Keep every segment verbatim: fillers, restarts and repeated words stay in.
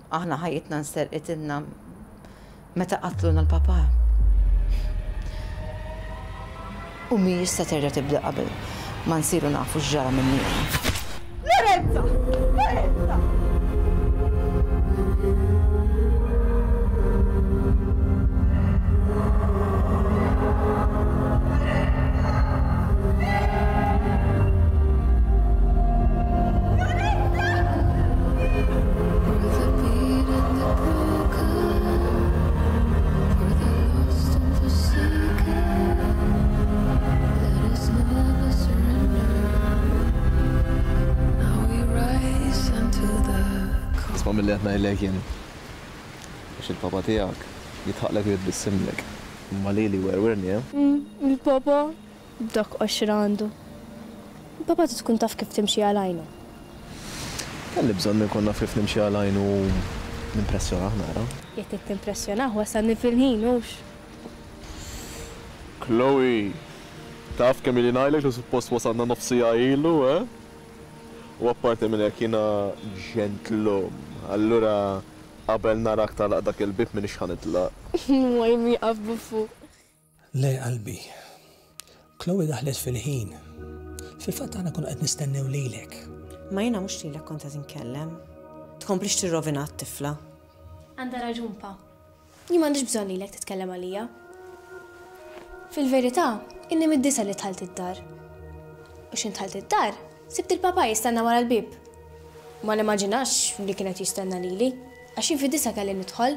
Aħna ħajjitna nserqitilna meta qatluna l-papà. U mhijiex se terġa' tibda qabel ma nsiru nafu x'ġara minn Lorenza! Lorenza! Milli qed ngħidlek jien. Biex il-papa tiegħek jitħaqlek u jitbissimlek. Imma lili werwirni, eh? Il-papa dak qoxra għandu. Il-papa tkun taf kif timxi għal għajnu. Kelli bżonn inkun naf kif nimxi għal għajnu nimpressjonah nara. Jekk qed timpressjonah wasalni fil-ħin hux. Chloe, taf kemm ili ngħidlek li suppost wasalna nofsija ilu, eh? U apparti minn hekk jiena ġentlom. Allura qabel narak tagħlaq dak il-bib m'iniex ħa nitlaq. Waj wieqaf buffu. Le qalbi. Chloe daħlet fil-ħin. Fil-fatt aħna konna qed nistennew lilek. Ma jiena mhux lilek kont qed inkellem. Tkomplix tirrovina t-tifla. Għandha raġun pa. Jien m'għandix bżonn lilek titkellem għalija. Fil-verità, inni mid-disa li dħalt id-dar. U x'int dħalt id-dar, sibt il-papa jistenna wara l-bib. Ma nimmaġinax li kienet jistenna lili, għax jien fid-disa kelli nidħol.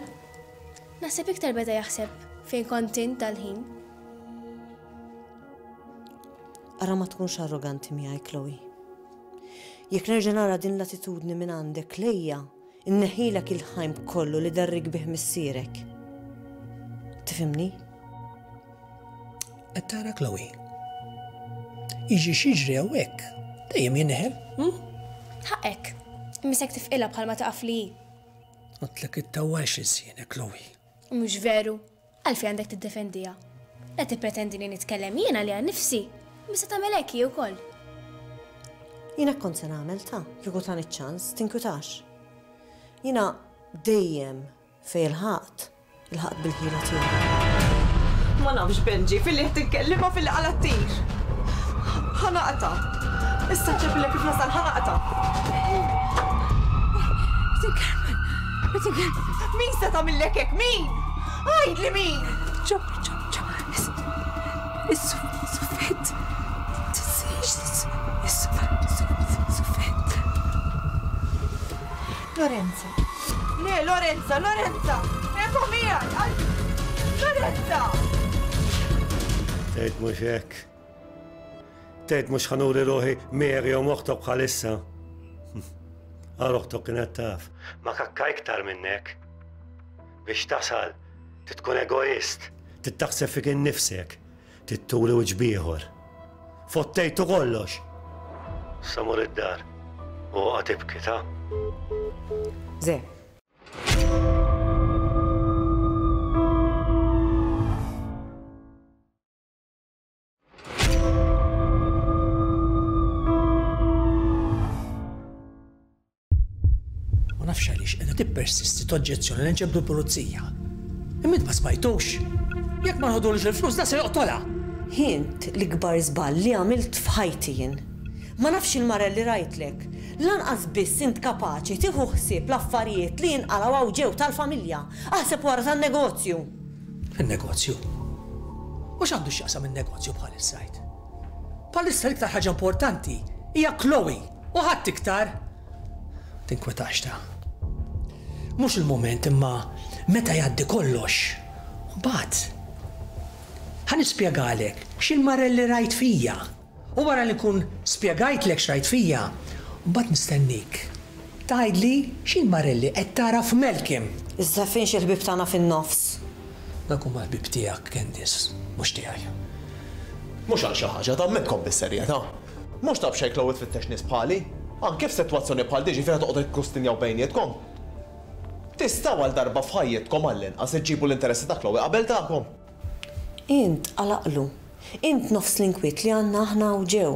Naħseb iktar beda jaħseb fejn kont int dal-ħin. Ara ma tkunx arroganti miegħi, Chloe. Jekk nerġa' nara din l-attitudni minn għandek lejja, inneħilek il-ħajm kollu li darrik bih missierek. Tifhimni? Qed tara Chloe. Jiġi x'jiġri hawnhekk, dejjem jinneħel, hm? Ħaqek. Imma tifqilha bħalma taqaf li hi. Għedtlek ittawwalx ilsienek, Chloe. Mhux veru. Għalfejn għandek tiddefendiha. La tippretendi li nitkellem jiena li għan nifsi. Misa tagħmel hekk hi wkoll. Jiena kont se nagħmel ta' kieku tani ċ-ċans, tinkwitax. Jiena dejjem fejn ilħaqt, ilħaqt bil-ħila tiegħi. Ma nafx Benji, filli qed tinkellimha filli qala ttir. Ħa naqta'. Issa nċempillek kif nasal ħa naqta'. Min se tagħmillek hekk? Min? Għidli min? Ġo, ġo, ġo. Is-suffett. Tinsiex is-suffett. Lorenza. Le, Lorenza, Lorenza! Eko miegħi! Lorenza! Tgħid mhux hekk. Tgħid mhux ħa nuri ruħi Mary u oħtok bħalissa. Għal oħtok kienet taf. Ma kakka iktar minnek. Biex tasal, titkun egoist, tittaħseb fik innifsek, titturi wiċċ b'ieħor. Fottejtu kollox. Sa mur id-dar u oqgħod tibki ta'. Ze. Ma nafx għaliex qiegħda tippersisti toġġezzjoni li nġebdu l-pulizija. Imma int ma smajtux. Jekk ma nħodulux il-flus da se joqtolha. Int l-ikbar żball li għamilt f'ħajti jien. Ma nafx il-mara li rajtlek. Lanqas biss int kapaċi tieħu ħsieb l-affarijiet li jinqalgħu hawn ġew tal-familja. Aħseb wara tan-negozju. Il-negozju? U x'għandu x'jaqsam in-negozju bħalissa jgħid? Bħalissa l-iktar ħaġa importanti hija Chloe u ħadd iktar. Tinkwetax ta'. Mhux il-mument imma meta jgħaddi kollox. Mbagħad ħa nispjegalek x'il-marelli rajt fija. U wara li nkun spjegajtlek x'rajt fija, mbagħad nistennik. Tgħidli x'il-marelli qed tara f'Malcolm. Iżda fejn xi ħbieb tagħna fin-nofs? Dak huma ħbieb tiegħek, Candice, mhux tiegħi. Mhux għal xi ħaġa tagħmilkom bis-serjetà. Mhux taf xejn Chloe tfittex nies bħali. Anke f'sitwazzjoni bħal diġi fejn toqgħodu tikkustinjaw bejnietkom. Tistgħu għal darba f'ħajjitkom għall-inqas iġġibu l-interessi ta' Chloe qabel tagħkom. Int għalaqlu. Int nofs l-inkwiet li għandna aħna u ġew.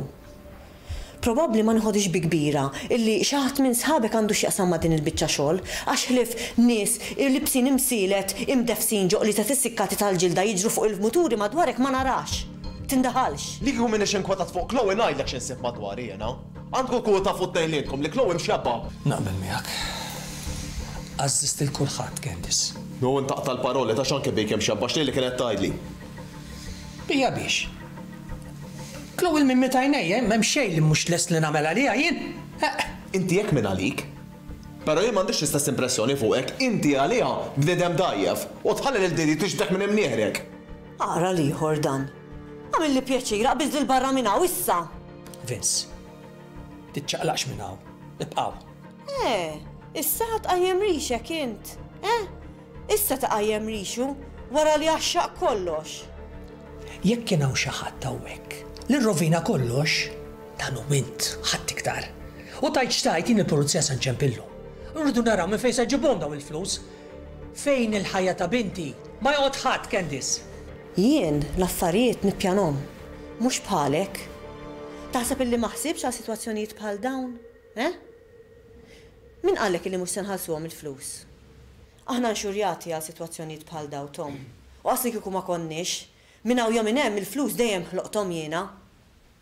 Probabbli ma nħodix bi kbira illi xi ħadd minn sħabek għandu x'jaqsam ma' din il-biċċa xogħol, għax ħlief nies libsin imsielet imdefsin ġoqli ta' tissikkati tal-ġilda jiġru fuq il-muturi madwarek ma narax. Tindaħalx. Li kieku m'iniex inkwetat fuq Chloe ngħidlek x'insib madwari jiena. Għandkom tkunu tafu t-tnejn lilkom li Chloe mxebba. Naqbel miegħek. Għażżist lil kulħadd, Candice. No, intaqta' l-paroli ta' x'anke bik hemm xebba x'lili kienet tgħidli. Bija biex. Chloe minn meta għajnejja, m'hemm xejn li mhux lest li nagħmel għaliha jien. Inti hekk minn għalik. Però jien m'għandix l-istess impressjoni fuqek, inti għaliha bniedem dgħajjef u tħalli lil Didi tixdek minn imnieħrek. Ara l-ieħor dan. Għamilli pjaċir, aqbiż lil barra minn hawn issa. Vince, tiċċaqlaqx minn hawn, ibqgħu. Eh, issa tqajjem rixek int, eh? Issa tqajjem rixu wara li għaxxaq kollox. Jekk kien hawn xi ħadd hawnhekk li rrovina kollox, dan hu int, ħadd iktar. U tajt x'tajt jien il-pulizija se nċempillu. Rridu naraw minn fejn se ġibhom dawn il-flus. Fejn il-ħajja ta' binti ma joqgħod ħadd, Candice. Jien l-affarijiet nippjanhom, mhux bħalek. Taħseb illi ma ħsibx għal sitwazzjonijiet bħal dawn, eh? Min qallek illi mhux se nħallsuhom il-flus? Aħna nxurjati għal sitwazzjonijiet bħal dawn, Tom. U qasli kieku ma konniex, minn hawn jew minn hemm il-flus dejjem ħloqthom jiena.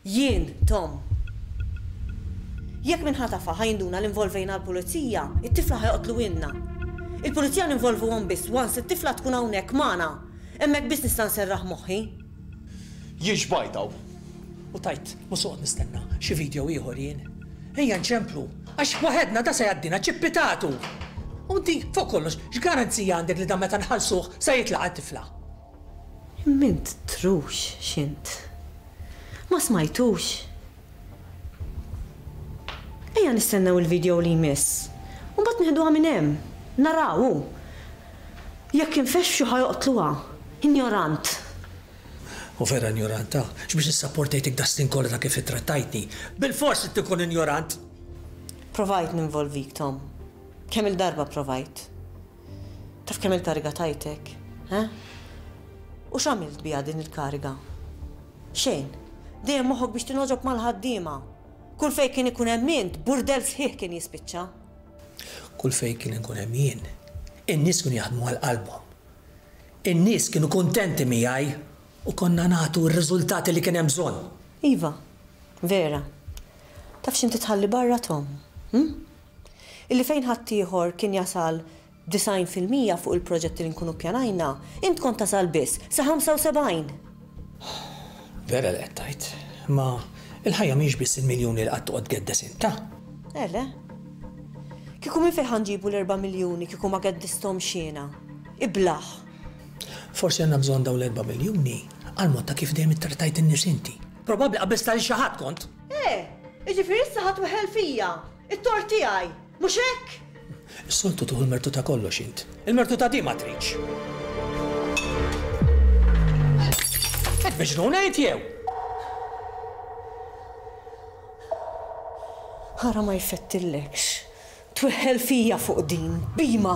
Jien, Tom. Jekk minn ħatafa ħajnduna l-involvejna l-pulizija, it-tifla ħajoqtlu ilna. Il-pulizija ninvolvuhom biss once it-tifla tkun hawnhekk magħna. Hemmhekk biss nista' nserraħ moħħi. Jien xbajtaw. U tajt, mhux soqgħod nistenna xi video ieħor jien. Ejja nċemplu, għax waħedna da se jgħaddina ċippitatu. U inti fuq kollox, x'garanzija għandek li dan meta nħallsuh se jitlaqa' t-tifla? Imma int trux x'int. Ma smajtux. Ejja nistennew il-video li jmiss. U mbagħad nieħduha minn hemm. Naraw. Jekk infexxu ħajoqtluha. Ignorant. U vera ignoranta, x'biex issapportejtek da snin kollha ta' kif ittrattajtni. Bil-fors trid tkun ignorant. Provajt ninvolvik, Tom. Kemm il-darba provajt. Taf kemm il-kariga tajtek, eh? U x'għamilt biha din il-kariga? Xejn. Dejjem moħħok biex tinogħġob mal-ħaddiema. Kull fejn kien ikun hemm int, burdell sħiħ kien jispiċċa. Kull fejn kien ikun hemm jien, in-nies kienu jaħdmu għal qalbhom. In-nies kienu kuntenti miegħi u konna nagħtu r-riżultati li kien hemm bżonn. Iva, vera. Taf x'inti tħalli barra, Tom? Hm? Illi fejn ħaddieħor kien jasal disgħin fil-mija fuq il-proġetti li nkunu ppjanajna, int kont tasal biss sa ħamsa u sebgħin. Vera li qed tgħid, ma il-ħajja mhijiex biss il-miljuni li qatt toqgħod tgeddes inta. Ele. Kieku minn fejn ħanġibu l-erba' miljuni kieku ma geddisthomx jiena. Iblaħ. Forsi għandna bżonn dawn l-erba' miljuni għal mod ta' kif dejjem ittrattajt in-nies inti. Probabbli qabiż tal xi ħadd kont. Eh, jiġifieri issa ħadd weħel fija. It-tort tiegħi, mhux hekk? Is-soltu tieħu l-mertu ta' kollox int. Il-mertu ta' di ma tridx. Qed miġnun ngħid jew? Ħara ma jfettillekx. Tweħel fija fuq din, bima.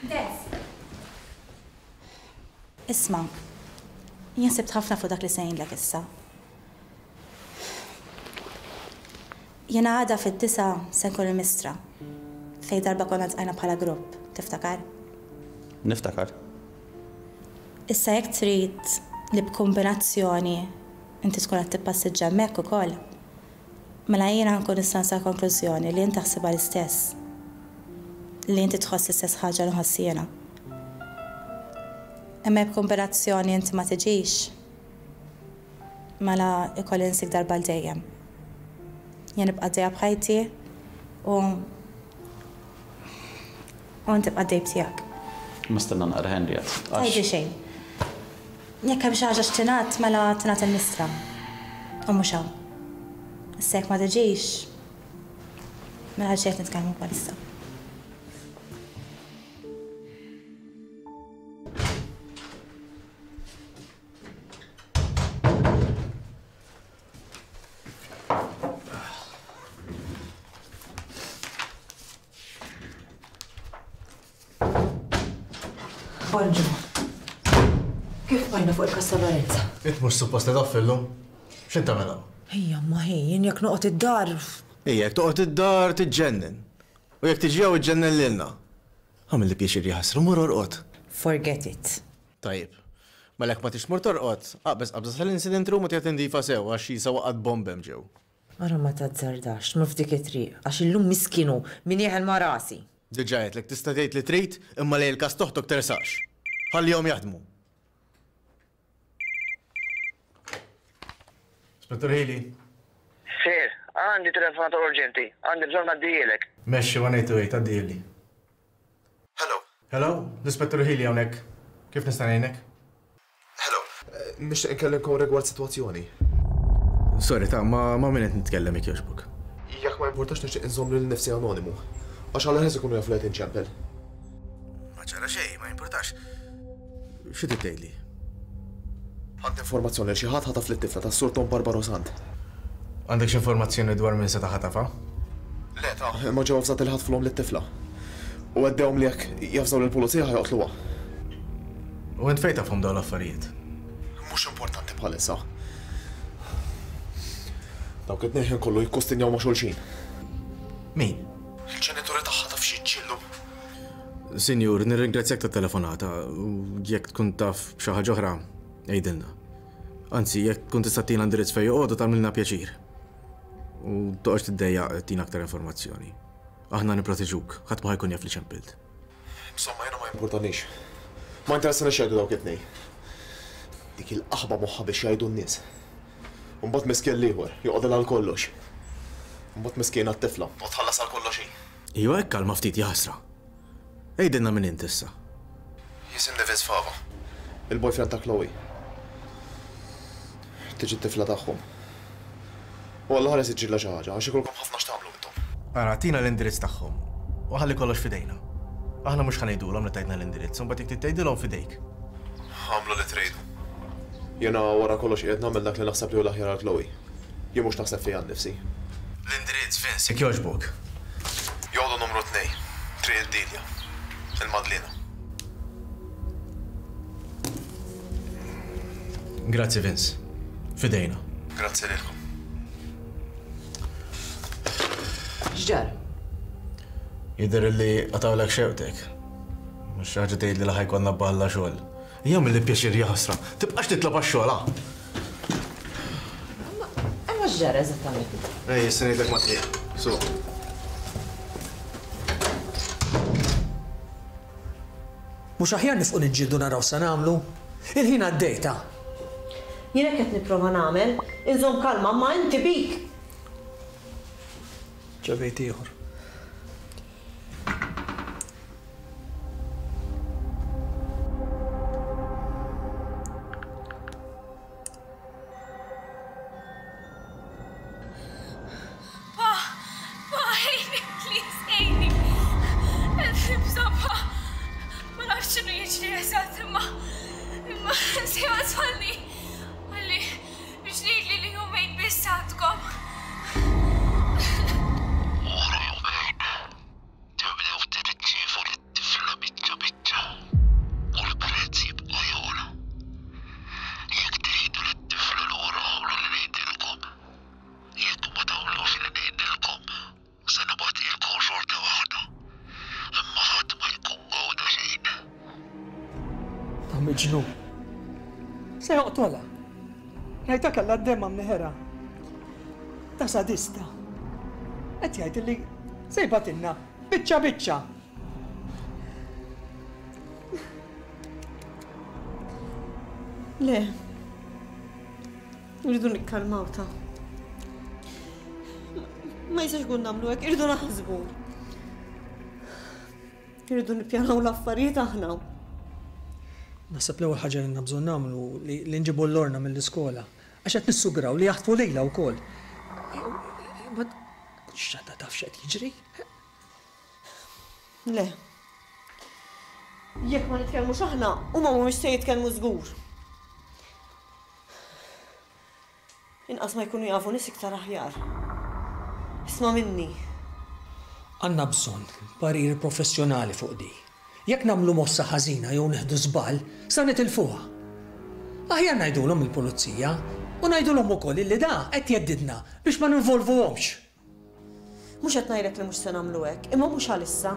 Des. Isma', jien sibt ħafna fuq dak li se ngħidlek issa. Jiena għada fid-disa se nkun il-mistra. Fej darba konna tqajna bħala grupp, tiftakar? Niftakar. Issa jekk trid li b'kombinazzjoni inti tkun qed tippassiġġa hemmhekk ukoll, mela jiena nkun nista' nsal konklużjoni li int taħsibha l-istess. li inti tħoss l-istess ħaġa li nħoss jiena. Imma jekk b'kombinazzjoni inti ma tiġix, mela ikolli nsik darba l dejjem. Jien nibqa' għaddejja b'ħajti u u inti tibqa' għaddej b'tiegħek. Ma stenna naqra Henriette. Tgħidli xejn. Jekk hemm xi ħaġa x'tingħad mela tingħad il-mistra. U mhux hawn. Issa jekk ma tiġix, mela għal xejn qed nitkellmu bħalissa. Bonġu. Kif bajna fuq il-kas ta' Lorenza? Int mhux suppost taf illum. X'int tagħmel hawn? Ejja, ma ħej, jien jekk noqgħod id-dar. Ejja, jekk toqgħod id-dar tiġġennen. U jekk tiġi hawn iġġennen lilna. Għamilli pjaċir jaħasra, mur orqod. Forget it. Tajjeb. Mela jekk ma tix tmur torqod, aqbeż qabża sal-incident room u tgħid indifa sew għax jisa waqgħet bomb hemm ġew. Ara ma tazzardax, tmur f'dik it-triq, għax illum miskinu min jeħel ma' rasi. Diġà għedtlek tista' tgħid li trid imma lejn il-każ toħtok tersax. Ħallihom jaħdmu. Spettur Healy. Sir, għandi telefonata urġenti, għandi bżonn ngħaddihielek. Mexxi one eight two eight, għaddihieli. Hello. Hello, l-Ispettur Healy hawnhekk. Kif nista' ngħinek? Hello. Nixtieq inkellimkom rigward sitwazzjoni. Sorry, ta' ma ma min qed nitkellem jekk jogħġbok. Jekk ma importax nixtieq inżomm lil nifsi anonimu. Għax għal ħes ikunu jafu li qed inċempel. Ma ġara xejn, ma importax. Xi trid tgħidli? Għandi informazzjoni li xi ħadd ħataf lit-tifla tas-Sur Tom Barbaro Sant. Għandek xi informazzjoni dwar min seta' ħatafha? Le ta' imma ġew avżati li ħatfulhom lit-tifla. U għeddewhom li jekk javżaw lill-pulizija ħajoqtluha. U int fejn tafhom dawn l-affarijiet? Mhux importanti bħalissa. Dawk it-tnejn ħin kollu jikkustinjaw ma' xulxin. Min? Il-ġenituri tagħha taf xi ġillu. Sinjur, nirringrazzjak tat-telefonata u jekk tkun taf b'xi ħaġa oħra, għidilna. Anzi, jekk tkun tista' tina indirizz fejn joqogħdu tagħmilna pjaċir. U toqgħodx tiddejjaq tina aktar informazzjoni. Aħna nipproteġuk, ħadd ma ħajkun jaf li ċempilt. Insomma, jiena ma jimpurtanix. Ma interessani x'jgħidu dawk it-tnejn. Dik il-qaħba moħħha biex jgħidu n-nies. U mbagħad miskien l-ieħor, joqgħodilha għal kollox. Mbagħad miskien għat-tifla, u tħallas għal kollox hi. Iva, hekk kalma ftit jaħasra. Għidilna min int issa. Jisimni Vince Fava, il-boyfriend ta' Chloe. Tiġi t-tifla tagħhom. U Alla ħares iġġilha xi ħaġa għax ikolkom ħafna x'tagħmlu intom. Ara, tina l-indirizz tagħhom u ħalli kollox f'idejna. Aħna mhux ħa ngħidulhom li tajtna l-indirizz, u mbagħad jekk trid tgħidilhom f'idejk. Għamlu li tridu. Jiena wara kollox qiegħed nagħmel dak li naħseb li hu l-aħjar għal Chloe. Jien mhux naħseb fija nnifsi. L-indirizz, Vince, jekk jogħġbok. Joqogħdu numru tnejn, Triq id-Dilja, il-Madlina. Grazzi, Vince. Fidejna. Grazzi lilkom. X'ġara? Jidher li qatawlek xewqtek. Mhux xi ħaġa tgħidli li ħajkonna balla xogħol. Ejja milli pjaċir jaħasra. Tibqax titlob għax-xogħol, ha? Imma x'ġara eżattament? Ej, issa ngħidlek ma triq. Su. Mhux aħjar nifqu niġġieldu naraw sa nagħmlu? Il-ħin għaddejta. Jien hekk qed nipprova nagħmel, inżomm kalma, ma inti bik. Ġabejt ieħor. Pa, pa, ejni, please, ejni. Nibża' pa. Ma nafx x'inhu jiġri eżatt, imma imma sejma tfalli. Għalli biex ngħidli li jumejn biss għandkom. Wara jumejn, tibdew tirċievu lit-tifla biċċa biċċa u l-prezz jibqa' jogħla. Jekk tridu lit-tifla lura għamlu li ngħidilkom. Jekk ma tagħmlux li ngħidilkom, se nibgħatilkom xorta waħda. Imma ħadd ma jkun gawda xejn. Ta' miġnun. Se joqtolha. Rajta kellha d-demma mneħera. Ta' sadista. Qed jgħid li se jbatilna biċċa biċċa. Le. Irridu nikkalmaw ta. Ma jistax ikun nagħmlu hekk, irridu naħsbu. Irridu nippjanaw l-affarijiet aħna. Naħseb l-ewwel ħaġa li għandna bżonn nagħmlu li nġibu l-Lorna mill-iskola. Għax qed nissugraw li jaħtfu lejla wkoll. Ma x'għadha taf x'qed jiġri? Le. Jekk ma nitkellmux aħna, huma mhumiex se jitkellmu żgur. Inqas ma jkunu jafu nies iktar aħjar. Isma' minni. Għandna bżonn parir professjonali fuq di. Jekk nagħmlu mossa ħażina jew nieħdu żball, sa nitilfuha. Aħjar ngħidulhom il-pulizija u ngħidulhom ukoll illi da qed jeddidna biex ma ninvolvuhomx. Mhux qed ngħidlek li mhux se nagħmlu hekk, imma mhux għalissa.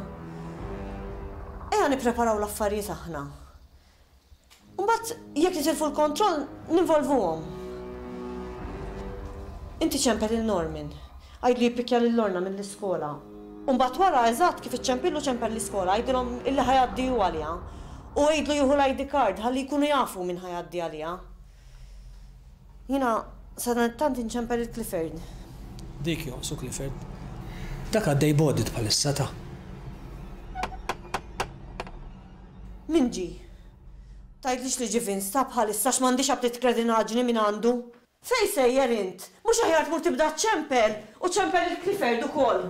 Ejja nippreparaw l-affarijiet aħna. Mbagħad jekk nitilfu l-kontroll ninvolvuhom. Inti ċempel lil Norman. Għidlu jippikja lil Lorna mill-iskola. U mbagħad wara eżatt kif iċċempillu ċempel l-iskola, għidilhom illi ħa jgħaddi hu għaliha. U għidlu jieħu l-I D card ħalli jkunu jafu min ħa jgħaddi għaliha. Jiena sadanittant inċempel il Clifford. Dik jonqsu Clifford. Dak għaddej b'audit bħalissa ta. Min ġie? Tgħidlix li ġie Vince ta bħalissa għax m'għandix aptit kredinaġni minn għandu. Fej sejjer int? Mhux aħjar tmur tibda ċempel u ċempel il-Clifford ukoll.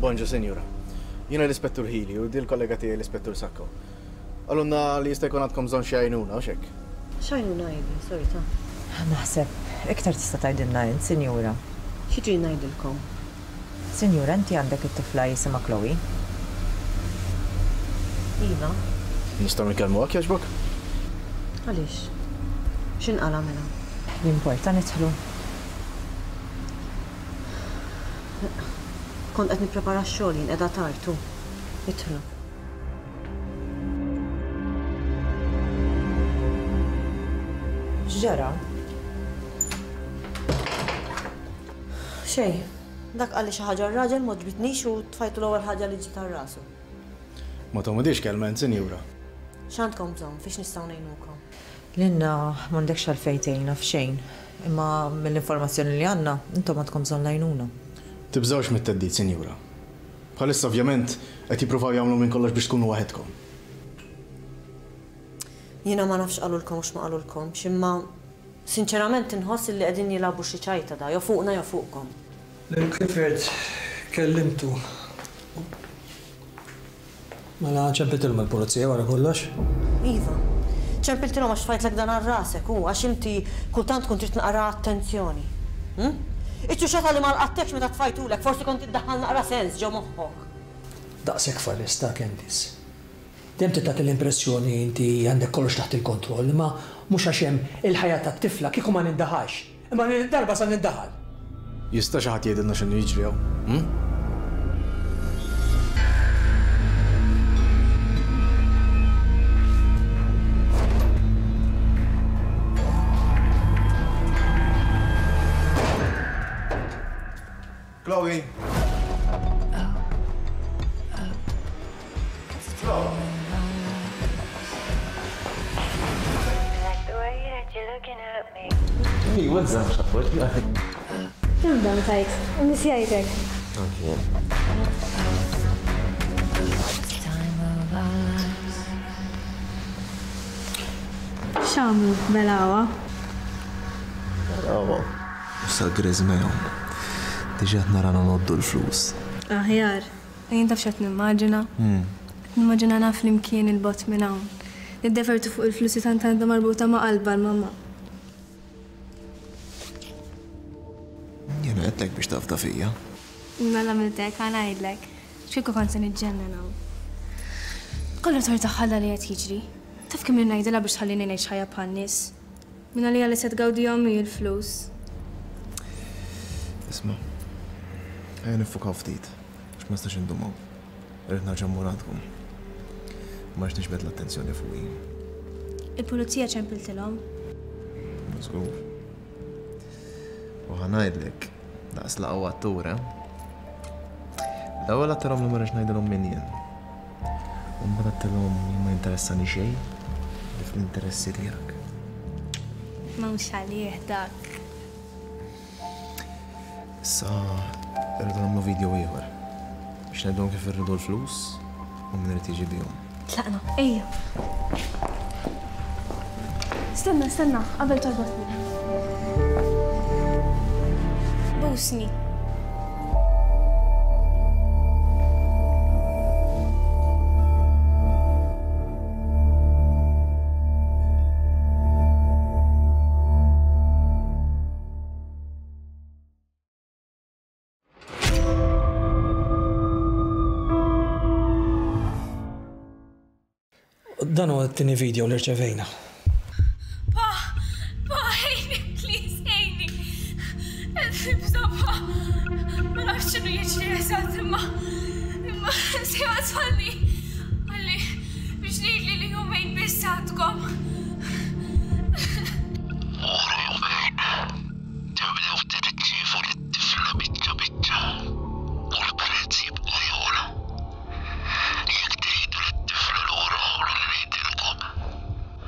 Bonġu, sinjura. Jiena l-Ispettur Healy u di l-kollega tiegħi l-Ispettur Sacco. Qalulna li jista' jkun għandkom bżonn xi għajnuna, u x'hekk? X'għajnuna għidi, sorry ta. Naħseb, iktar tista' tgħidilna int, sinjura. Xi trid ngħidilkom? Sinjura, inti għandek it-tifla jisimha Chloe. Iva. Nistgħu nkellmuha jogħġbok? Għaliex? X'inqala mela? Jimporta nidħlu. Kont qed nipprepara x-xogħol jien qiegħda tard u. Idħlu. X'ġara? Xejn. Dak qalli xi ħaġa r-raġel ma ġbitnix u tfajtu l-ewwel ħaġa li ġiet għal rasu. Ma tgħomodix kelma int, sinjura. X'għandkom bżonn, fiex nistgħu ngħinukom? Lilna m'għandekx għalfejn tgħinna f'xejn, imma mill-informazzjoni li għandna intom għandkom bżonn l-għajnuna. Tibżgħux mit-theddid, sinjura. Bħalissa ovvjament qed jippruvaw jagħmlu minn kollox biex tkunu waħedkom. Jiena ma nafx qalulkom u x'ma qalulkomx, imma sinċerament inħoss li qegħdin jilagħbu xi ċajta da, jew fuqna jew fuqkom. Lil Clifford kellimtu. Mela ċempiltilhom il-pulizija wara kollox? Iva. Ċempiltilhom għax tfajtlek dan għal rasek u għax inti kultant tkun trid naqra attenzjoni. Hm? Iċ-ċuċata li ma lqattekx meta tfajtulek, forsi kont iddaħħal naqra sens ġo moħħok. Daqshekk farista, Candice. Dejjem trid tagħti l-impressjoni inti għandek kollox taħt il-kontroll, imma mhux għax hemm il-ħajja tat-tifla kieku ma nindaħalx. Imma din id-darba sa nindaħal. Jista' xi ħadd jgħidilna x'inhu jiġri hawn? Hm? Chloe! Chloe! Hey, what's up, Shafut? Nibda tajt, nisjajtek. Okay. X'għamlu belawa? Belawa. Sa griżmejhom. Diġà qed nara noddu l-flus. Aħjar, jien taf x'qed nimmaġina? Qed nimmaġina naf flimkien il-bot minn hawn. Niddevertu fuq il-flussi tant għandha marbuta ma' qalba l-mamma. Jiena għedtlek biex tafda fija. Mela għamiltek, ħa ngħidlek. X'kieku kont se niġġennen hawn. Kollu tort tagħha li qed jiġri. Taf kemm ngħidilha biex tħallini ngħix ħajja bħan-nies. Minn għalija li se tgawdihom hi l-flus. Isma', ejja niffukaw ftit, għax ma nistax indum hawn. Irrid nerġa' mmur għandkom. Ma rridx niġbed l-attenzjoni fuqi. Il-pulizija ċempiltilhom. Żgur. U ħa ngħidlek, daqs laqgħu attur, eh? L-ewwel għedtilhom li ma rridx ngħidilhom min jien. U mbagħad għedtilhom li ma jinteressani xejn li fl-interessi tiegħek. Mhux għalih dak. Issa rridu nagħmlu video ieħor biex ngħidulhom kif irridu l-flus u min irid jiġi bihom. Tlaqna, ejja. Stenna, stenna, qabel torbotni. Busni. Dan huwa t-tieni video li rċevejna. Pa, pa, ħejni, please, ħejni. Nibża, pa. Ma nafx x'inhu jiġri eżatt, imma imma sejwa tfalli. Għalli biex ngħidli li jumejn biss għandkom. Wara jumejn, tibdew tirċievu lit-tifla biċċa biċċa u l-prezz jibqa' jogħla. Jekk tgħidu lit-tifla lura għamlu li ngħidilkom.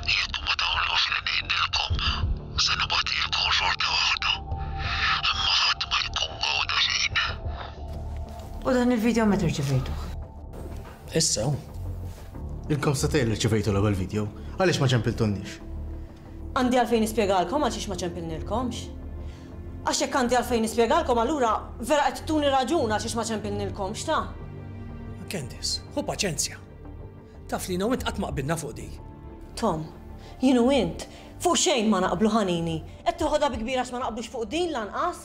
Jekk ma tagħmlux li ngħidilkom, se nibgħatilkom xorta waħda. Imma ħadd ma jkun gawda xejn. U dan il-video meta rċevejtuh? Issa. Ilkom satejn li rċevejtu l-ewwel video, għaliex ma ċempiltunniex? Għandi għalfejn nispjegalkom għaliex ma ċempilnilkomx. Għax jekk għandi għalfejn nispjegalkom allura vera qed tuni raġun għaliex ma ċempilnilkomx ta'. Candice, ħu paċenzja. Taf li jiena u int qatt ma qbilna fuq di. Tom, jien u int fuq xejn ma naqblu ħanini. Qed toħodha bi kbira għax ma naqblux fuq din lanqas.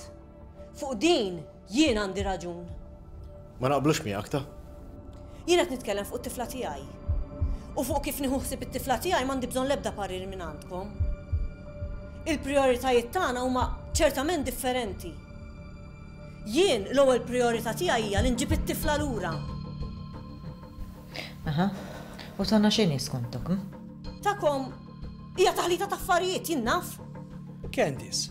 Fuq din jien għandi raġun. Ma naqblux miegħek ta'. Jien qed nitkellem fuq it-tifla tiegħi. U fuq kif nieħu ħsieb it-tifla tiegħi m'għandi bżonn l-ebda parir minn għandkom. Il-prijoritajiet tagħna huma ċertament differenti. Jien l-ewwel prijorità tiegħi hija li nġib it-tifla lura. Aha. U tagħna xejn skontok, hm? Takom hija taħlita ta' affarijiet jien naf. Candice.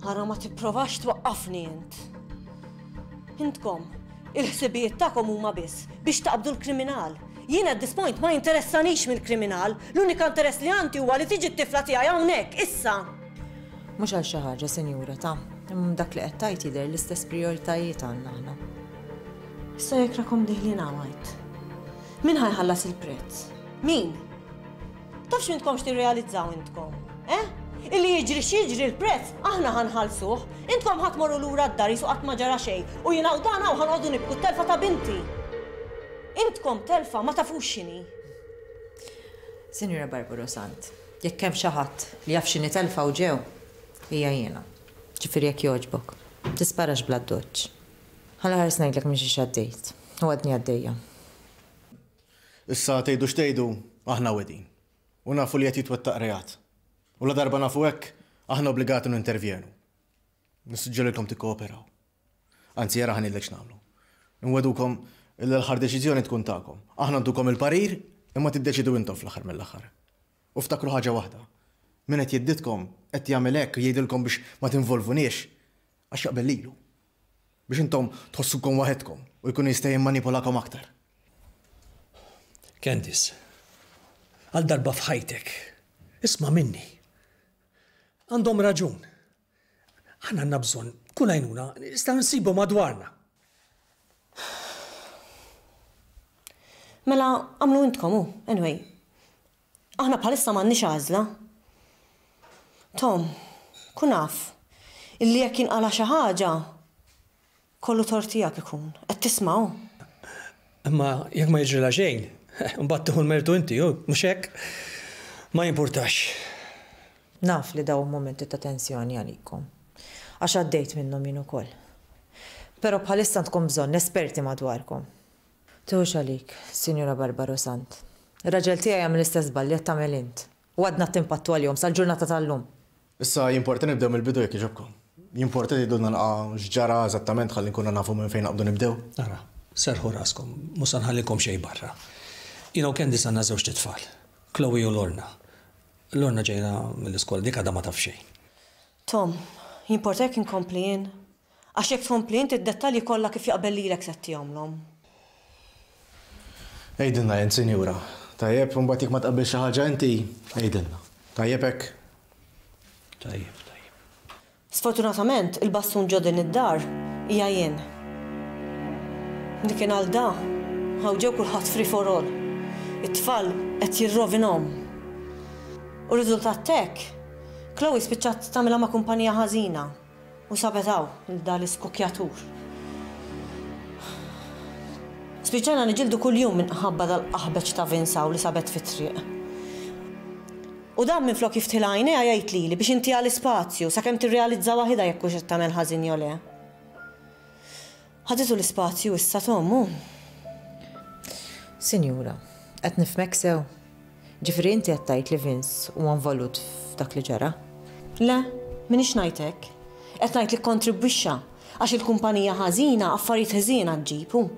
Ara ma tipprovax twaqqafni int. Intkom, il-ħsibijiet tagħkom huma biss biex taqbdu l-kriminal. Jien at this point ma jinteressanix mill-kriminal, l-unika interess li għandi huwa li tiġi t-tifla tiegħi hawnhekk issa. Mhux għal xi ħaġa, sinjura, ta' imma dak li qed tgħid jidher l-istess prijoritajiet għandna aħna. Issa jekk rakom diħlin hawn. Min ħajħallas il-prezz? Min? Tafx m'intkomx tirrealizzaw intkom, eh? Illi jiġri x'jiġri l-prezz, aħna ħanħallsuh. Intkom ħadd morru lura d-dar jisu qatt ma ġara xejn u jiena u dan hawn ħanqogħdu nibku t-telfa ta' binti. Intkom telfa ma tafux x'inhi. Sinjura Barbara Sant, jekk hemm xi ħadd li jaf x'inhi telfa u ġew, hija jiena. Ġifieri jekk jogħġbok, tisparax bla doċċ. Ħalla ħares ngħidlek minn xi għaddejt. U għadni għaddejja. Issa tgħidu x'tgħidu, aħna wedin. U nafu li qed jitwettaq reat. U la darba nafu hekk, aħna obbligati nintervjenu. Nissuġġerilkom tikkooperaw. Anzi, jara ħanilek x'nagħmlu. Nwedukom li l-aħħar deċiżjoni tkun tagħkom. Aħna ntukom il-parir, imma tiddeċidu intom fl-aħħar mill-aħħar. U ftakru ħaġa waħda. Min qed jidditkom qed jagħmel hekk jgħidilkom biex ma tinvolvuniex għax jaqbel lilu. Biex intom tħossukom waħedkom u jkun jista' jimmanipulakom aktar. Candice, għal darba f'ħajtek, isma' minni. Għandhom raġun. Aħna għandna bżonn kull għajnuna nistgħu nsibu madwarna. Mela għamlu intkom hu, anyway. Aħna bħalissa m'għandniex għażla. Tom, kun af, illi jekk jinqala xi ħaġa, kollu tort tiegħek ikun. Qed tisma'w. Imma jekk ma jiġrilha xejn, mbagħad tieħu l-mertu inti, hu, mhux hekk? Ma jimpurtax. Naf li dawn momenti ta' tensjoni għalikom. Għax għaddejt minnhom jien ukoll. Però bħalissa għandkom bżonn esperti madwarkom. Tuħux għalik, Sinjura Barbara Sant. Ir-raġel tiegħi jagħmel l-istess żball li qed tagħmel int. U għadna timpattu għalihom sal-ġurnata tal-lum. Issa jimporta nibdew mill-bidu jekk jogħġobkom. Jimporta tgħidulna naqra x'ġara eżattament ħalli nkunu nafu minn fejn naqbdu nibdew. Ara, serħu raskom, mhux se nħallikom xejn barra. Jiena u Candice għandna żewġ tfal, Chloe u Lorna. Lorna ġejna mill-iskola dik għadha ma taf xejn. Tom, jimporta jekk inkompli jien. Għax jekk tkompli int id-dettalji kollha kif jaqbel lilek se ttihomlhom. Għidilna jent, sinjura. Tajjeb, mbagħad jekk ma tqabbilx xi ħaġa inti, għidilna. Tajjeb hekk? Tajjeb, tajjeb. Sfortunatament, il-bastun ġo din id-dar hija jien. Dik kien għal da, hawn ġew kulħadd free for all. It-tfal qed jirrovinhom. U riżultat hekk, Chloe spiċċat tagħmilha ma' kumpanija ħażina u sabet hawn da l-iskukjatur. Spiċċajna niġildu kuljum minħabba dal-qaħbeċ ta' Vince hawn li sabet fit-triq. U dan minflok jiftħilha għajnejha jgħid lili biex intiha l-ispazju sakemm tirrealizza waħidha jekk hux qed tagħmel ħażin jew le. Ħaditu l-ispazju issa Tom hu. Sinjura, qed nifhmek sew. Ġifieri inti qed tgħid li Vince huwa involut f'dak li ġara? Le, m'iniex ngħid hekk. Qed ngħid li kkontribwixxa għax il-kumpanija ħażina affarijiet ħżiena ġġib hu.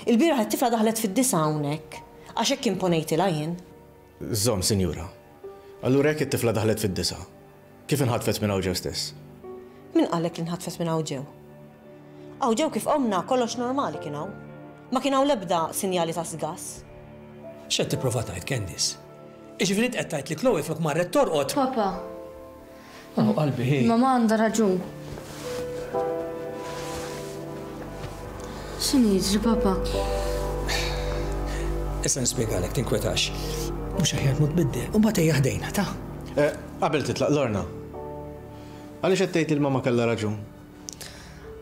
Il-bieraħ it-tifla daħlet fid-disa hawnhekk għax hekk imponejtilha jien. Żomm, sinjura. Allura jekk it-tifla daħlet fid-disa, kif inħatfet minn hawn ġew stess? Min qallek li nħatfet minn hawn ġew? Hawn ġew kif qomna kollox normali kien hawn. Ma kien hawn l-ebda sinjali ta' sgas. X'qed tipprova tgħid, Candice? Jiġifieri int qed tgħid li Chloe flok marret torqod. Papa. Oh, qalbi, hi. Mama għandha raġun. X'inhu jiġri, papa? Issa nispjegalek, tinkwetax. Mhux aħjar tmur tbiddel, u mbagħad ejja ħdejna, ta? Eh, qabel titlaq, Lorna. Għaliex qed tgħid li l-mama kellha raġun?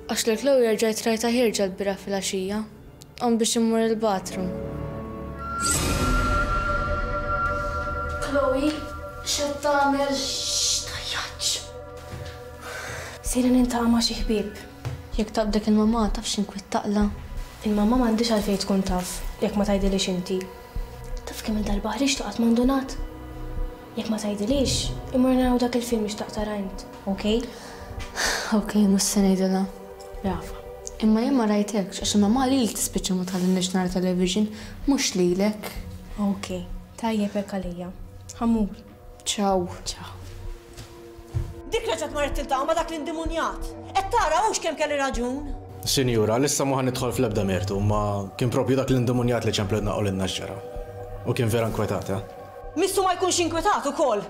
Għax li Chloe rġajt rajtha ħierġa l-bieraħ filgħaxija. Qom biex immur il-bathroom. Chloe, x'qed tagħmel? X'tajjaġ! Sejra nintaqa' ma' xi ħbieb. Jekk taqbdek il-mamà taf x'inkwiet taqla'. Il-mamà m'għandhiex għalfejn tkun taf jekk ma tgħidilix inti. Taf kemm il-darba ħriġt u qatt ma ndunat? Jekk ma tgħidilix, immur naraw dak il-film li xtaqt tara int, okej? Okej, mhux se ngħidilha. Brava. Imma jien ma rajtekx għax il-mamà lilek tispiċċa ma tħallinniex nara television, mhux lilek. Okej, tajjeb hekk għalija. Ħa mmur. Ciao. Ciao. Dik reġgħet marret tiltaqa' ma' dak l-indimunjat. Qed tara hux kemm kelli raġun. Sinjura, issa mhu ħa nidħol fl-ebda mertu, ma kien propju dak l-indimunjat li ċemplilna qalilna x'ġara. U kien vera inkwetat, eh? Missu ma jkunx inkwetat ukoll.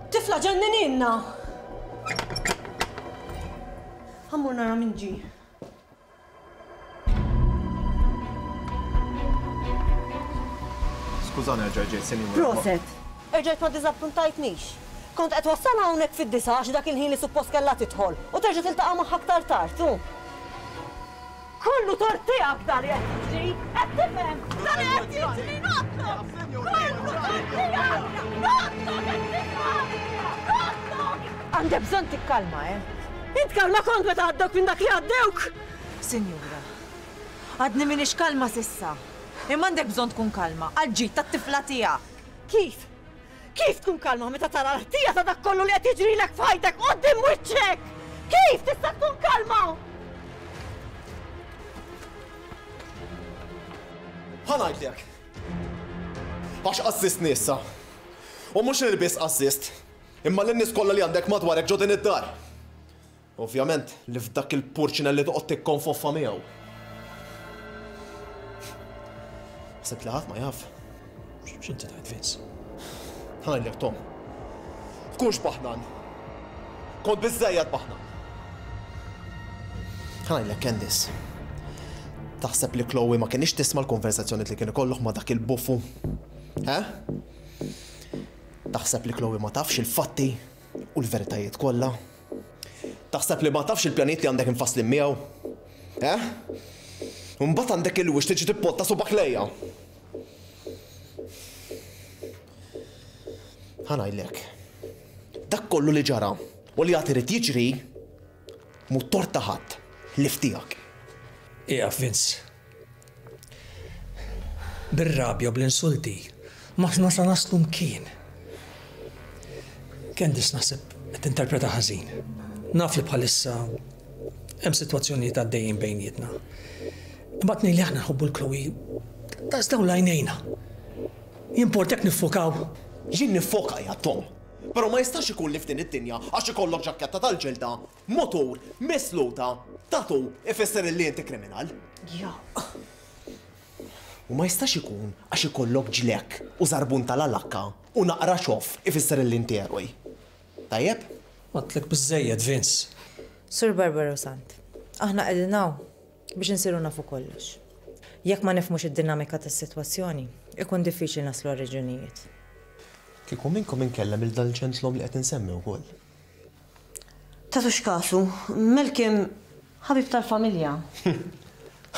Tifla ġenninilna. Ħa mmur nara min ġie. Skużani erġa' ġejt, sinjura. Proset. Erġajt ma ddiżappuntajtnix. Kont qed wassalha hawnhekk fid-disa għax dak il-ħin li suppost kellha tidħol u terġa' tiltaqa' magħha aktar tard, hu. Kollu tort tiegħek dan li qed jiġri, qed tifhem? Dan li qed jiġri noqtlok! Kollu tort tiegħek! Noqtlok qed tifhem! Noqtlok! Għandek bżonn tikkalma, eh? Int kalma kont meta għaddewk minn dak li għaddewk! Sinjura, għadni m'iniex kalma s'issa. Imma għandek bżonn tkun kalma għall-ġid tat-tifla tiegħek. Kif? Kif tkun kalma meta tara l-ħtija ta' dak kollu li qed jiġrilek f'ħajtek quddiem wiċċek? Kif tista' tkun kalma? Ħa ngħidlek. Għax qassistni issa. U mhux lil biss qassist, imma lin-nies kollha li għandek madwarek ġo din id-dar. Ovvjament li f'dak il-purċinell li toqgħod tikkonfoffa miegħu. Ħsibt li ħadd ma jaf. X'inti tgħid, Vince? Ħa ngħidlek, Tom. Tkunx baħnan. Kont biżżejjed baħnan. Ħa ngħidlek, Candice. Taħseb li Chloe ma kienx tisma' l-konversazzjoni li kien ikollok ma' dak il-buffu? Eh? Taħseb li Chloe ma tafx il-fatti u l-veritajiet kollha? Taħseb li ma tafx il-pjanijiet li għandek infasslin miegħu? Eh? U mbagħad għandek il-wix tiġi tippotta subak lejja. Ħa ngħidlek. Dak kollu li ġara u li għad irid jiġri mhu tort ta' ħadd ħlief tiegħek. Ieqaf, Vince. Bir-rabja u bl-insulti m'aħna sa naslu mkien. Candice naħseb qed tinterpreta ħażin. Naf li bħalissa hemm sitwazzjonijiet għaddejjin bejnietna. Imma tnejn li aħna nħobbu l-Chloe daqs dawn l-għajnejna. Jimportek niffokaw. Jien niffoka ja Tom. Però ma jistax ikun li f'din id-dinja għax ikollok ġakketta tal-ġilda, motur, misluta, tatu ifisser illi inti kriminal. Ja. U ma jistax ikun għax ikollok ġlek u żarbun tal-alakka u naqra xof ifisser li inti eroj. Tajjeb? Għedtlek biżżejjed, Vince. Sur Barbaro Sant, aħna qegħdin hawn biex insiru nafu kollox. Jekk ma nifhmux id-dinamika tas-sitwazzjoni, ikun diffiċli naslu għar-raġunijiet. Kieku minnkom inkellem il dal-ġentlom li qed insemmi wkoll. Tagħtux kasu, Malcolm ħabib tal-familja.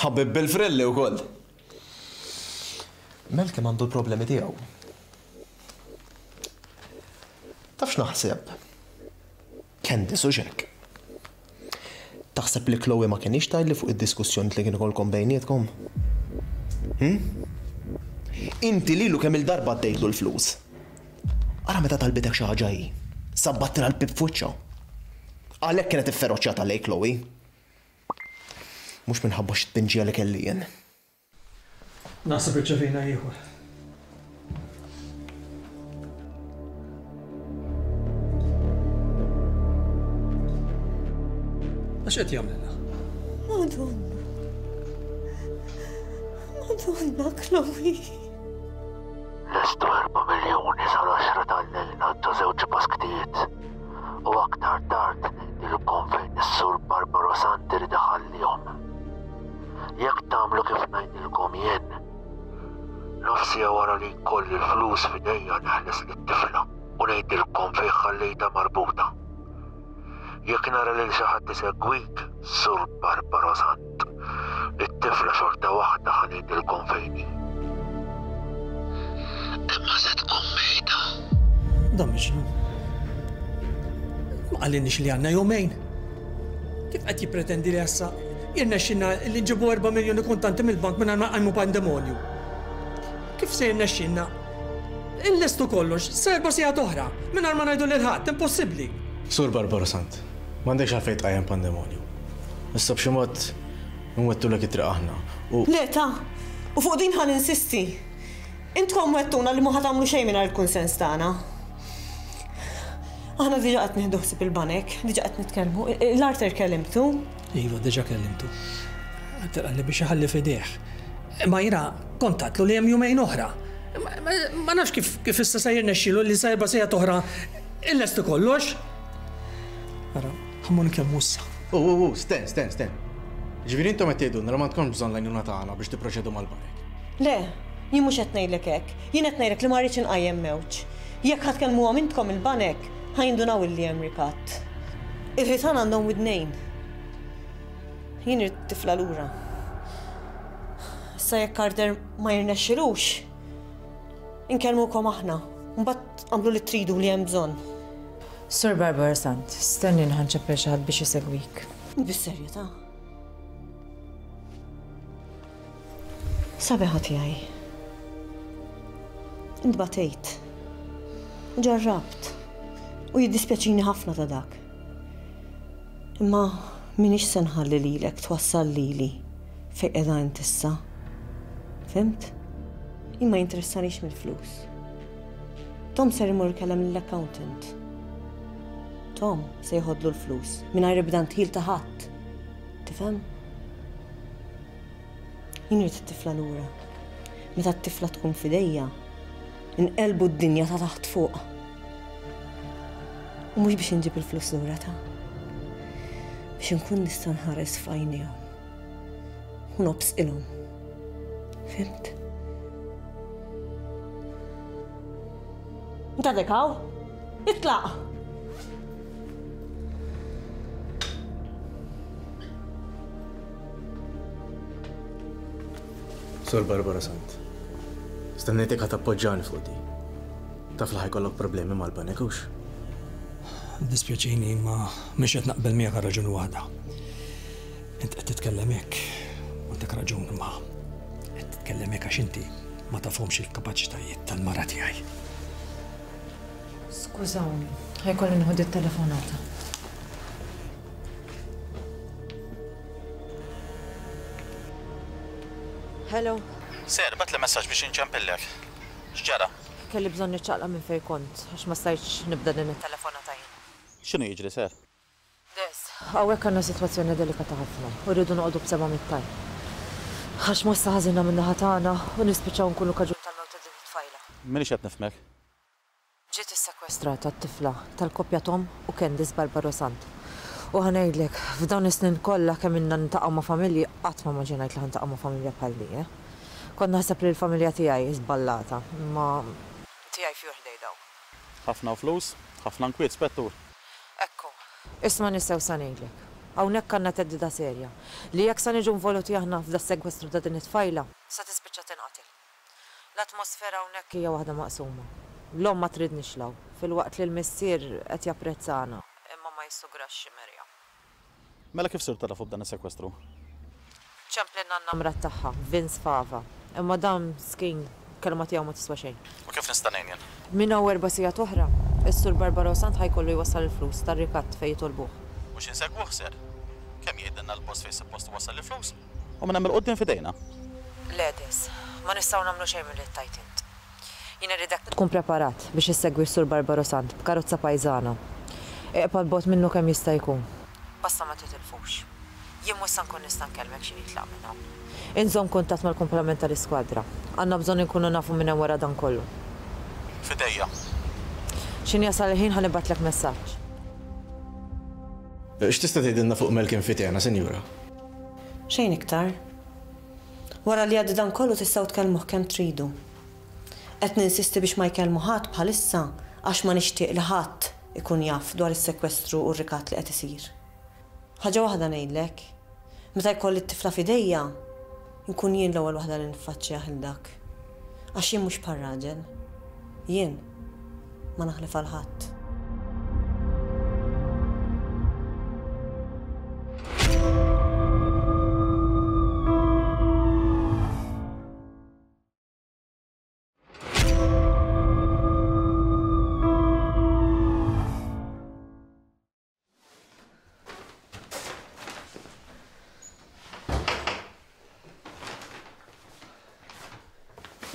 Ħabib bil-frilli wkoll. Malcolm għandu l-problemi tiegħu. Taf x'naħseb? Candice u xek. Taħseb li Chloe ma kienx tgħidli fuq id-diskussjoni li kien ikolkom bejnietkom? Hm? Inti lilu kemm il-darba għaddejtlu l-flus. Ara meta talbitek xi ħaġa hi. Sabbattilha l-pib f'wiċċha. Għalhekk kienet ifferoċjata lej Chloe. Mhux minħabba xi tpinġija li kelli jien. Naħseb irċevejna ieħor. Għax qed jagħmlilna? Madonna. Madonna, Chloe. Lestu erba' miljuni sal-għaxra tal-lejl ngħaddu żewġ basktijiet. U aktar tard ngħidilkom fejn is-Sur Barbaro Sant irid iħallihom. Jekk tagħmlu kif ngħidilkom jien, nofsija wara li jkolli l-flus f'idejja neħles lit-tifla u ngħidilkom fejn ħallejtha marbuta. Jekk nara lil xi ħadd isegwik, Sur Barbaro Sant, it-tifla xorta waħda ħa ngħidilkom fejn hi. Imma se tkun mejta. Dan miġnun. Ma qalilniex li għandna jumejn. Kif qed jippretendi li issa jirnexxilna li nġibu erba' miljuni kontanti mill-bank mingħajr ma nqajmu pandemonju? Kif se jirnexxilna illestu kollox sa erba' sigħat oħra mingħajr ma ngħidu lil ħadd, impossibbli. Sur Barbaro Sant, m'għandekx għalfejn tqajjem pandemonju. Issa b'xi mod nwettulek it-triq aħna u. Le ta, u fuq din ħa ninsisti. Intkom wettuna li ma ħa tagħmlu xejn mingħajr il-kunsens tagħna. Aħna diġà qed nieħdu ħsieb il-banek, diġà qed nitkellmu. L-Arthur kellimtu? Iva, diġà kellimtu. Arthur qalli biex iħalli f'idejh. Imma jiena kontatlu li hemm jumejn oħra. Ma nafx kif kif issa se jirnexxielu li sa erba' sigħat oħra illestu kollox. Ara, ħa mmur nkellmu issa. U, u, u, sten, sten, sten. Ġifieri intom qed tgħidulna li m'għandkomx bżonn l-għajnuna tagħna biex tipproċedu mal-banek. Le, jien mhux qed ngħidlek hekk. Jien qed ngħidlek li ma rridx inqajjem mewġ. Jekk ħa tkellmuhom intkom il-banek, ħa jindunaw illi hemm rikatt. Il-ħitan għandhom widnejn. Jien irrid tifla lura. Issa jekk Carter ma jirnexxilux, inkellmukom aħna. Mbagħad għamlu li tridu li hemm bżonn. Sur Barbara Sant, stenni ħa nċempel xi ħadd biex isegwik. Bis-serjetà. Sabiħa tiegħi. Intbatejt. Ġarrabt. U jiddispjaċini ħafna ta' dak. Imma minix se nħalli lilek twassal lili fejn qiegħda int issa. Fhimt? Jien ma jinteressanix mill-flus. Tom ser imur ikellem lill-accountant. Tom se jħodlu l-flus mingħajr ebda ndħil ta' ħadd. Tifhem? Jien irid it-tifla lura. Meta t-tifla tkun f'idejja, inqelbu d-dinja ta' taħt fuq. U mhux biex inġib il-flus lura ta'. Biex inkun nista' nħares f'għajnejhom. U nobsqilhom. Fhimt? Inta għadek hawn? Itlaq! Sur Barbara Sant, stennejtek ħa tappoġġani fuq di. Taf li ħa jkollok problemi mal-banek hux? Dispjaċini ma mhix qed naqbel miegħek għal raġuni waħda. Int qed titkellem hekk, u għandek raġun imma qed titkellem hekk għax inti ma tafhomx il-kapaċitajiet tal-mara tiegħi. Skużawni, ħa jkolli nieħu dit-telefonata. Hello. Sir, bagħatli messaġġ biex inċempillek. X'ġara? Kelli bżonn niċċaqlaq minn fejn kont, għax ma stajtx nibda din it-telefonata jien. X'inhu jiġri, sir? Des, hawnhekk għandna sitwazzjoni delikata ħafna u rridu noqogħdu b'seba' mit-tajn. Għax mossa ħażina min-naħa tagħna u nispiċċaw nkunu kaġun tal-mewt ta' din it-tfajla. M'iniex qed nifhmek. Ġiet issekwestrata t-tifla tal-koppja Tom u Candice Barbaro Sant. U ħa ngħidlek, f'dawn is-snin kollha kemm ilna niltaqgħu ma' familji qatt ma immaġinajt li ħa niltaqgħu ma' familja bħal di, eh? Kont naħseb li l-familja tiegħi żballata, imma tiegħi fjur ħdej dawk. Ħafna flus, ħafna nkwiet, Spettur. Ekku, isma' nisew sa ngħidlek. Hawnhekk għandna theddida serja li jekk sa niġu involuti aħna f'da sekwestru ta' din it-tfajla, sa tispiċċa tinqatel. L-atmosfera hawnhekk hija waħda maqsuma. L-omm ma tridniex law, filwaqt li l-missier qed japprezzana, imma ma jissugrax xi merja. Mela kif sirtu tafu b'dan is-sekwestru? Ċemplilna n-namra tagħha, Vince Fava, imma dan skin kelma tiegħu ma tiswa xejn. U kif nista' ngħin jien? Minn hawn erba' sigħat oħra, is-Sur Barbaro Sant ħa jkollu jwassal il-flus tar-rikatt fejn jitolbuh. Mhux insegwuh ser. Kemm jgħidilna l-post fejn suppost wassal il-flus? U minn hemm il-quddiem f'idejna. Le Des, ma nistgħu nagħmlu xejn milli tgħid int. Jien irridek tkun preparat biex issegwi s-Sur Barbaro Sant b'karozza pajżana. Iqpa' l-bogħod minnu kemm jista' jkun. Basta ma titilfux. Jien mhux sa nkun nista' nkellmek xi jitlaq minn hawn. Inżomm kuntatt mal-kumplament tal-iskwadra. Għandna bżonn inkunu nafu minn hemm wara dan kollu. F'idejja. X'inhi jasal il-ħin ħa nibgħatlek messaġġ. X'tista' tgħidilna fuq Malcolm Fitena, Sinjura? Xejn iktar. Wara li għaddi dan kollu tistgħu tkellmuh kemm tridu. Qed ninsisti biex ma jkellmu ħadd bħalissa għax ma nixtieq li ħadd ikun jaf dwar is-sekwestru u r-rikatt li qed isir. Ħaġa waħda ngħidlek, meta jkolli t-tifla f'idejja, nkun jien l-ewwel waħda li niffaċċjah il dak. Għax jien mhux bħal raġel. Jien ma naħlef għal ħadd.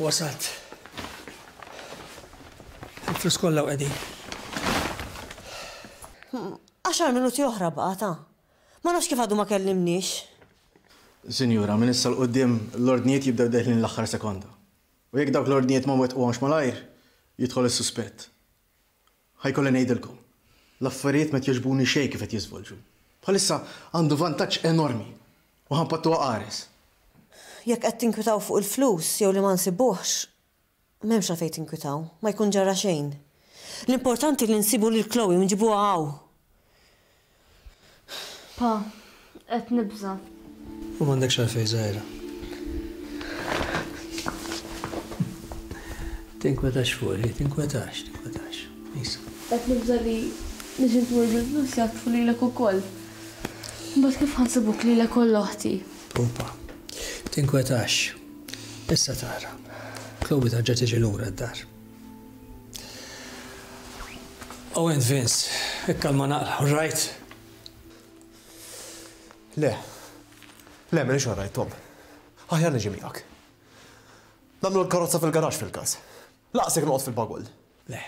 Wasalt. Il-flus kollha qegħdin. Għaxar minuti oħra baqa' ta'. Ma nafx kif għadu ma kellimniex. Sinjura, minn issa 'l quddiem l-ordnijiet jibdew deħlin l-aħħar sekonda. U jekk dawk l-ordnijiet ma wettquhomx malajr, jidħol is-suspett. Ħajkolli ngħidilkom. L-affarijiet ma jogħġbuni xejn kif qed jiżvolġu. Bħalissa għandu vantaġġ enormi u ħanpattuha qares. Jekk qed tinkwitaw fuq il-flus jew li ma nsibuhx, m'hemmx għalfejn tinkwitaw, ma jkun ġara xejn. L-importanti li nsibu lil Chloe u nġibuha hawn. Pa, qed nibża'. U m'għandekx għalfejn żgħira. Tinkwetax fuqi, tinkwetax, tinkwetax. Isa. Qed nibża' li biex intmur bil-flus jagħtfu lilek ukoll. Mbagħad kif ħa nsibuk lilek u oħti? Pupa. Tinkwetax. Issa tara. Chloe tarġa' tiġi lura d-dar. Oh, and Vince, ikkalma naqra, all right? Le. Le, m'iniex all right, Tom. Aħjar niġi miegħek. Nagħmlu l-karozza fil-garax fil-każ. Laqsek noqgħod fil-bagull. Le.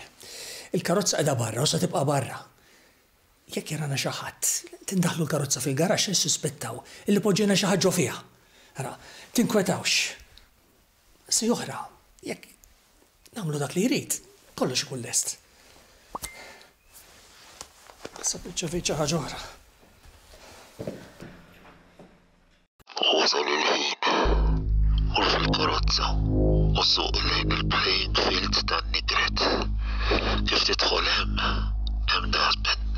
Il-karozza qiegħda barra u se tibqa' barra. Jekk jarana xi ħadd, tindaħlu l-karozza fil-garax nissuspettaw illi poġġejna xi ħaġa fiha. Ara, tinkwetawx. Si oħra, jekk nagħmlu dak li jrid, kollox ikun lest. Issa biċċa xi ħaġa oħra. Wasal il-ħin. Mur fil-karozza u suq lejn il-playing field tan-Nigret. Kif tidħol hemm, hemm dustbin.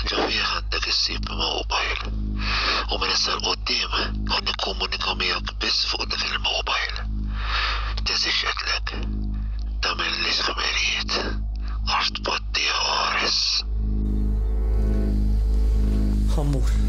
Ġo fih għandek issib mobile. U minn issa 'l quddiem ħa nikkomunika miegħek biss fuq dak il-mobile. Tinsiex għedtlek, tagħmillix ħmerijiet għax tbattiha qares. Ħa mmur.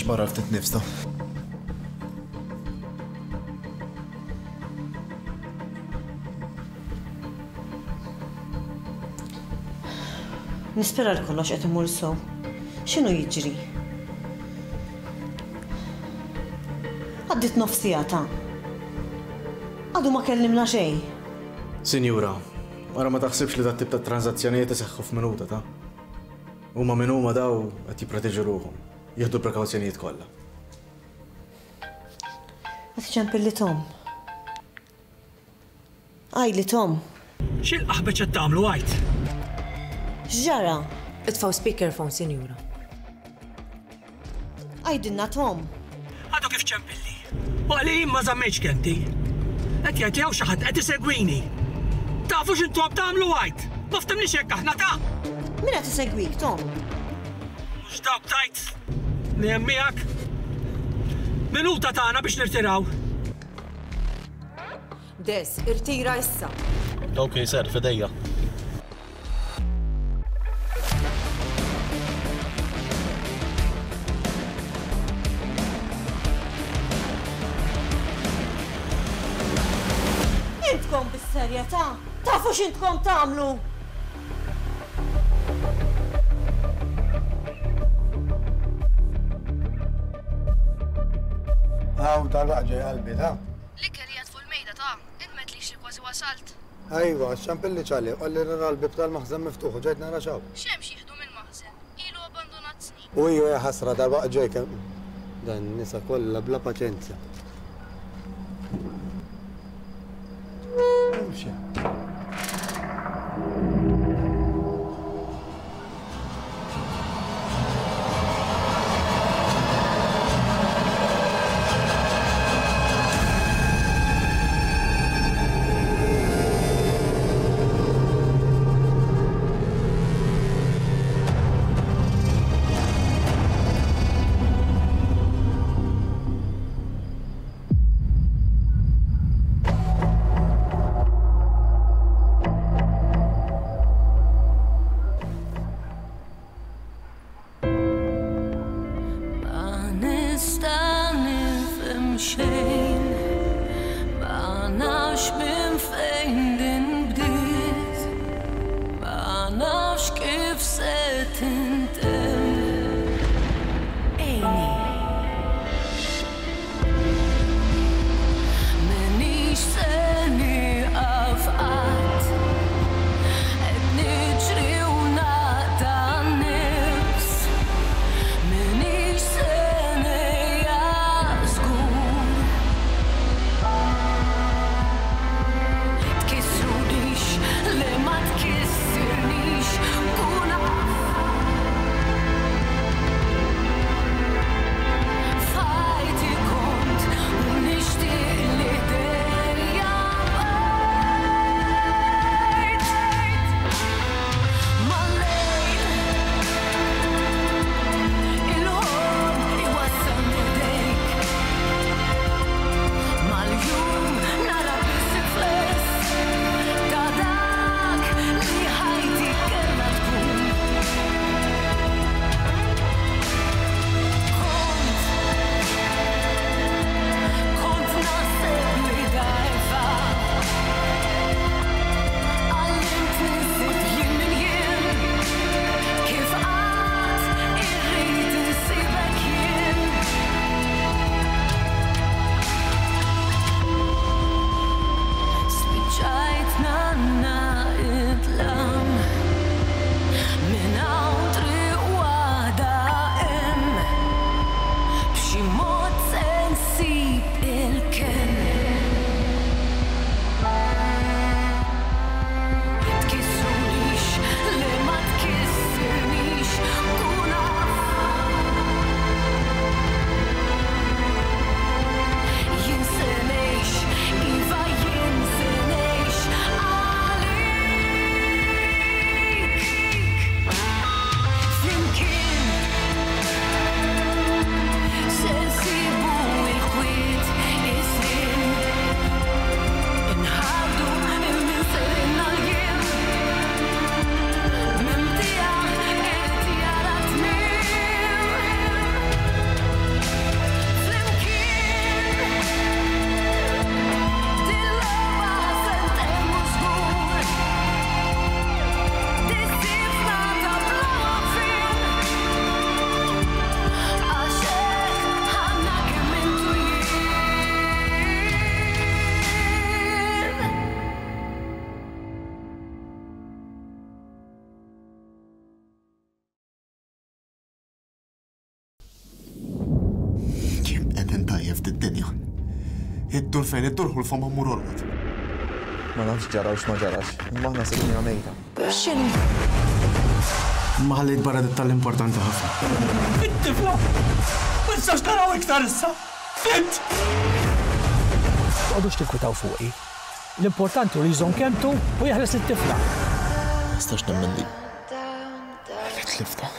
Nimxi barra ftit nifs ta. Nispera li kollox qed imur sew. X'inhu jiġri? Għaddiet nofs siegħa ta. Għadu ma kellimna xejn. Sinjura, wara ma taħsibx li dat-tip ta' transazzjonijiet iseħħu f'minuta ta'. Huma min huma daw qed jipproteġu ruħhom, jieħdu l-prekawzjonijiet kollha. Qed iċempilli Tom. Għajli Tom. X'il-qaħbeċ qed tagħmlu għajt? X'ġara? Itfgħu speakerphone, sinjura. Għajdilna Tom. Għadu kif ċempilli. U għali ma żammejtx kenti. Qed jgħid li hawn xi ħadd qed isegwini. Tafu x'intom tagħmlu għajt? Ma ftemniex hekk aħna ta'. Min qed isegwik, Tom? Mhux dawk tajt li hemm miegħek. Minuta tagħna biex nirtiraw. Des, irtira issa. Ok, sir, fidejja. Intkom bis-serjetà? Tafu x'intkom tagħmlu? Hawn tal-waqt ġej qalbi ta'. L-ikel qiegħed fuq il-mejda ta', int m'għedtlix li kważi wasalt. Ejwa, ċempilli ċali, qalli nara l-bieb tal-maħżen miftuħ u ġejt nara x'hawn. X'hemm x'jieħdu mill-maħżen? Ilu abbandonat snin. U iju ja ħasra dal-waqt ġej kemm. Dan nisa kollha bla paċenzja. Imxi. Kiss fid-dinja. Iddur fejn iddur hu l-fom mmur orqod. Ma nafx ġara u x'ma ġarax, imma aħna sibniha mejta. X'inhu? Ma ħallejt barra dettall importanti ħafna. It-tifla! Ma nistax naraw iktar issa! Fint! Toqgħodux tinkwitaw fuqi. L-importanti hu li jżomm kelmtu u jeħles it-tifla. Ma nistax nemmen li li tliftha.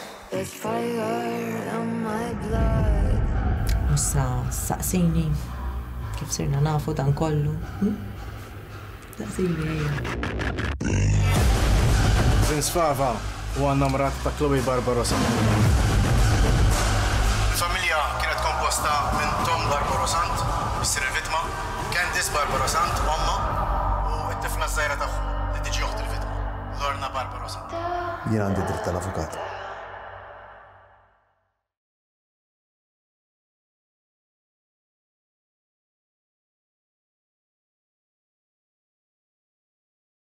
Issa saqsini kif sirna nafu dan kollu. Hm? Saqsini ejja. Vince Fava huwa nnamorat ta' Chloe Barbarossa. Il-familja kienet komposta minn Tom Barbarosant, missier il-vittma, Candice Barbarosant, omma, u t-tifla żgħira tagħhom li tiġi oħt il-vittma, Lorna Barbarosant. Jien għandi dritt tal-avukat.